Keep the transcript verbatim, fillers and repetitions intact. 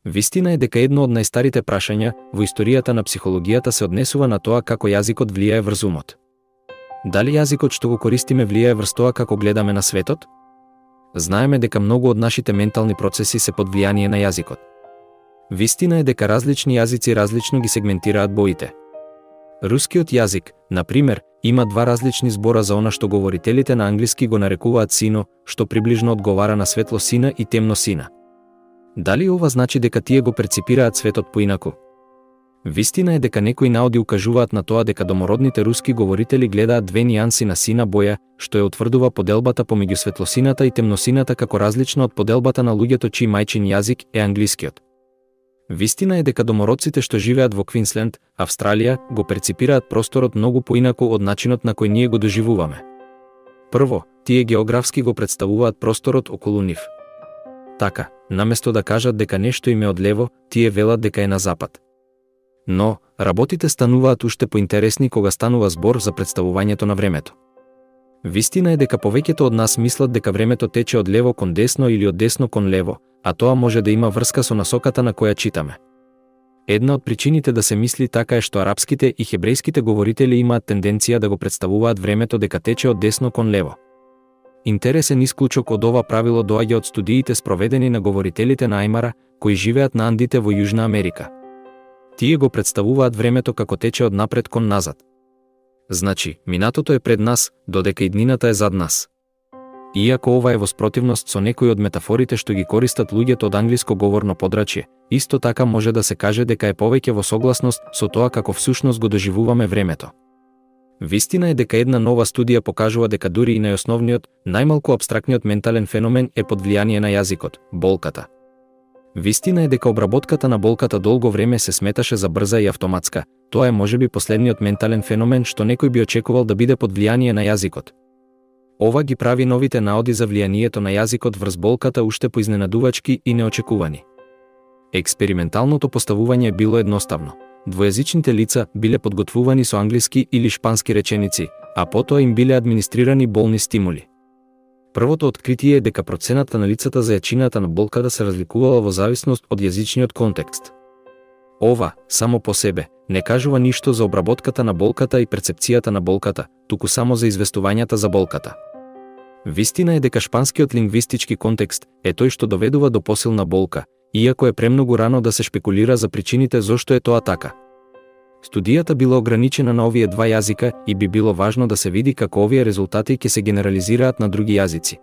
Вистина е дека едно од најстарите прашања во историјата на психологијата се однесува на тоа како јазикот влијае врз умот. Дали јазикот што го користиме влијае врз тоа како гледаме на светот? Знаеме дека многу од нашите ментални процеси се под влијание на јазикот. Вистина е дека различни јазици различно ги сегментираат боите. Рускиот јазик, на пример, има два различни збора за она што говорителите на англиски го нарекуваат сино, што приближно одговара на светло сина и темно сина. Дали ова значи дека тие го перципираат светот поинаку? Вистина е дека некои наоди укажуваат на тоа дека домородните руски говорители гледаат две нијанси на сина боја, што ја утврдува поделбата помеѓу светлосината и темносината како различна од поделбата на луѓето чиј мајчин јазик е англискиот. Вистина е дека домородците што живеат во Квинсленд, Австралија, го перципираат просторот многу поинаку од начинот на кој ние го доживуваме. Прво, тие географски го представуваат просторот околу нив. Така, наместо да кажат дека нешто им е одлево, тие велат дека е на запад. Но, работите стануваат уште поинтересни кога станува збор за представувањето на времето. Вистина е дека повеќето од нас мислат дека времето тече од лево кон десно или од десно кон лево, а тоа може да има врска со насоката на која читаме. Една од причините да се мисли така е што арапските и хебрејските говорители имаат тенденција да го представуваат времето дека тече од десно кон лево. Интересен исклучок од ова правило доаѓа од студиите спроведени на говорителите на Ајмара, кои живеат на Андите во Јужна Америка. Тие го представуваат времето како тече од напред кон назад. Значи, минатото е пред нас, додека иднината е зад нас. Иако ова е во спротивност со некои од метафорите што ги користат луѓето од англиско говорно подрачје, исто така може да се каже дека е повеќе во согласност со тоа како всушност го доживуваме времето. Вистина е дека една нова студија покажува дека дури и најосновниот, најмалку апстрактниот ментален феномен е под влијание на јазикот – болката. Вистина е дека обработката на болката долго време се сметаше за брза и автоматска. Тоа е можеби последниот ментален феномен што некој би очекувал да биде под влијание на јазикот. Ова ги прави новите наоди за влијанието на јазикот врз болката уште поизненадувачки и неочекувани. Експерименталното поставување било едноставно. Двојазичните лица биле подготвувани со англиски или шпански реченици, а потоа им биле администрирани болни стимули. Првото откритие е дека процената на лицата за јачината на болката се разликувала во зависност од јазичниот контекст. Ова, само по себе, не кажува ништо за обработката на болката и перцепцијата на болката, туку само за известувањата за болката. Вистина е дека шпанскиот лингвистички контекст е тој што доведува до посилна болка, иако е премногу рано да се шпекулира за причините зошто е тоа така. Студијата била ограничена на овие два јазика и би било важно да се види како овие резултати ќе се генерализираат на други јазици.